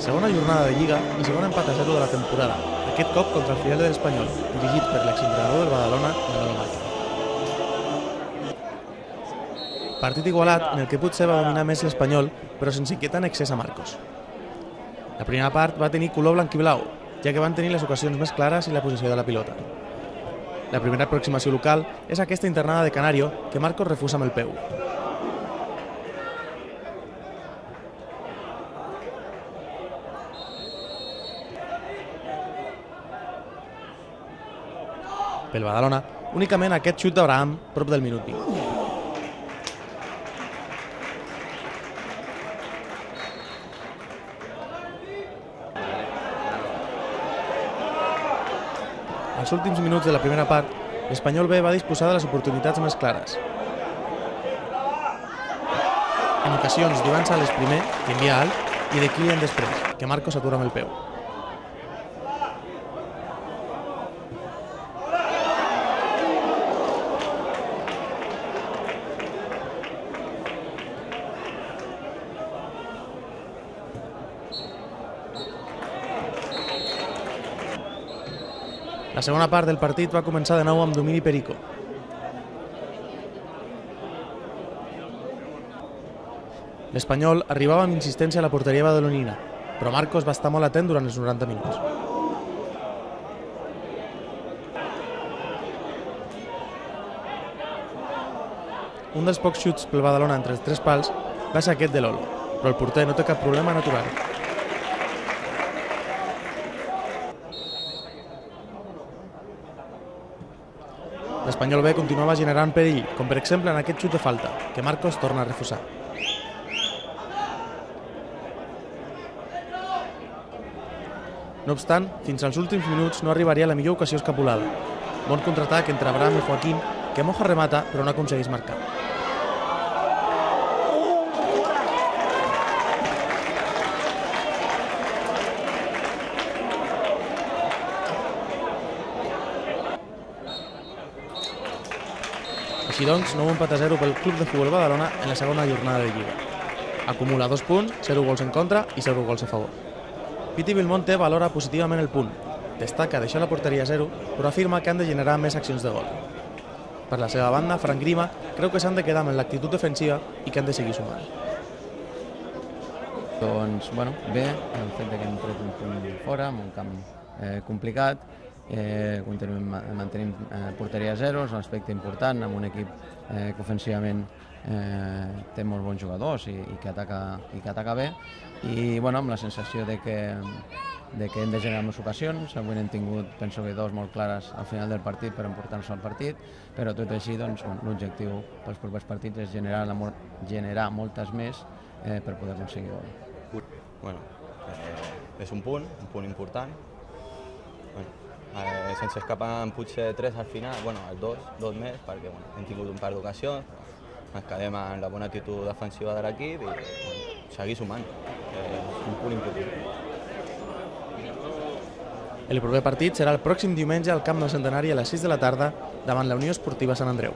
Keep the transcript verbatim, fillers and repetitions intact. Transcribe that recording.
Segona jornada de Lliga i segon empat a zero de la temporada, aquest cop contra el filial de l'Espanyol, dirigit per l'exentrenador del Badalona, Manolo Márquez. Partit igualat en el que potser va dominar més l'Espanyol, però sense inquietar en excés a Marcos. La primera part va tenir color blanc i blau, ja que van tenir les ocasions més clares i la possessió de la pilota. La primera aproximació local és aquesta internada de Canario, que Marcos refusa amb el peu. Pel Badalona, únicament aquest xut d'Abraham, prop del minut vint. Als últims minuts de la primera part, l'Espanyol B va disposar de les oportunitats més clares. En ocasions d'Ivan Sales primer, que envia alt, i de Kylian després, que Marcos s'atura amb el peu. La segona part del partit va començar de nou amb domini Perico. L'Espanyol arribava amb insistència a la porteria badalonina, però Marcos va estar molt atent durant els noranta minuts. Un dels pocs xuts pel Badalona entre els tres pals va ser aquest de Lolo, però el porter no té cap problema en aturar-ho. L'Espanyol B continuava generant perill, com per exemple en aquest xut de falta, que Marcos torna a refusar. No obstant, fins als últims minuts no arribaria la millor ocasió escapulada. Bon contraatac entre Abraham i Joaquín, que Moja remata però no aconsegueix marcar. Així doncs, nou empat a zero pel Club de Futbol Badalona en la segona jornada de Lliga. Acumula dos punts, zero gols en contra i zero gols a favor. Piti Belmonte valora positivament el punt. Destaca deixar la porteria a zero, però afirma que han de generar més accions de gol. Per la seva banda, Frank Grima creu que s'han de quedar amb l'actitud defensiva i que han de seguir sumant. Doncs, bueno, bé, el fet que hem tret un punt fora, en un camp eh, complicat, Eh, continuem mantenim eh, porteria a zero, és un aspecte important amb un equip eh, que ofensivament eh, té molts bons jugadors i, i, que ataca, i que ataca bé, i bueno, amb la sensació de que, de que hem de generar més ocasions. Avui n'hem tingut, penso que dos molt clares al final del partit per emportar-nos al partit, però tot i així doncs, bueno, l'objectiu pels propers partits és generar, la, generar moltes més eh, per poder aconseguir gol. Bueno, eh, és un punt, un punt important. Bueno, Eh, sense escapar en potser tres al final, bueno, els dos, dos més, perquè bueno, hem tingut un par d'ocasions, ens quedem en la bona actitud defensiva de l'equip i bueno, seguir sumant, que és un punt important. El proper partit serà el pròxim diumenge al Camp del Centenari a les sis de la tarda davant la Unió Esportiva Sant Andreu.